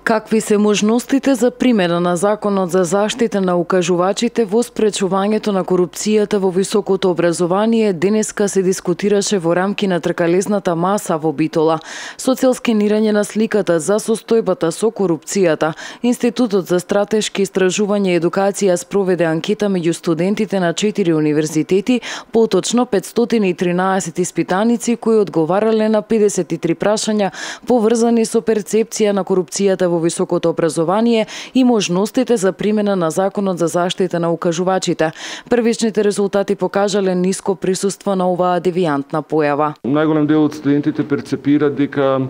Какви се можностите за примена на Законот за заштита на укажувачите во спречувањето на корупцијата во високото образование денеска се дискутираше во рамки на тркалезната маса во Битола. Со цел скенирање на сликата за состојбата со корупцијата, Институтот за стратешки истражувања и едукација спроведе анкета меѓу студентите на 4 универзитети, поточно 513 испитаници кои одговарале на 53 прашања поврзани со перцепција на корупцијата во високото образование и можностите за примена на Законот за заштита на укажувачите. Првичните резултати покажале ниско присуство на оваа девијантна појава. Најголем дел од студентите перцепира дека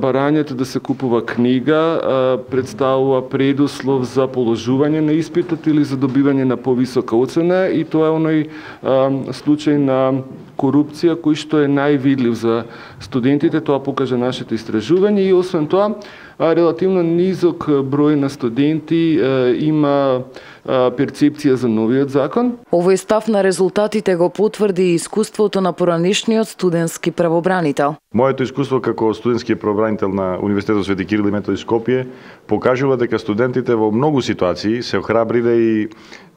барањето да се купува книга представува предуслов за положување на испитот или за добивање на повисока оцена, и тоа е оној случај на корупција кој што е највидлив за студентите, тоа покажа нашето истражување, и освен тоа релативно низок број на студенти има перцепција за новиот закон. Овој став на резултатите го потврди и искуството на поранишниот студентски правобранител. Моето искуство како студентски правобранител на Универзитетот Свети Кирил и Методи Скопје покажува дека студентите во многу ситуации се охрабриле и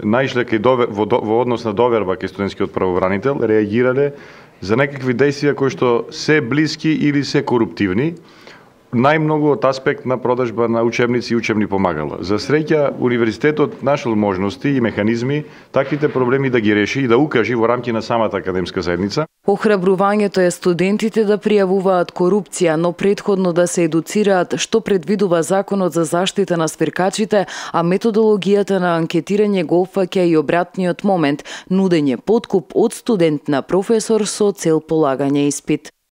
наишле во однос на доверба кај студентскиот правобранител, реагирале за некакви действија кои што се блиски или се коруптивни, најмногу од аспект на продажба на учебници и учебни помагала. За среќа, универзитетот нашол можности и механизми таквите проблеми да ги реши и да укажи во рамки на самата академска заедница. Охрабрувањето е студентите да пријавуваат корупција, но претходно да се едуцираат што предвидува Законот за заштита на свиркачите, а методологијата на анкетирање го опфаќа и обратниот момент – нудење подкуп од студент на професор со цел полагање испит.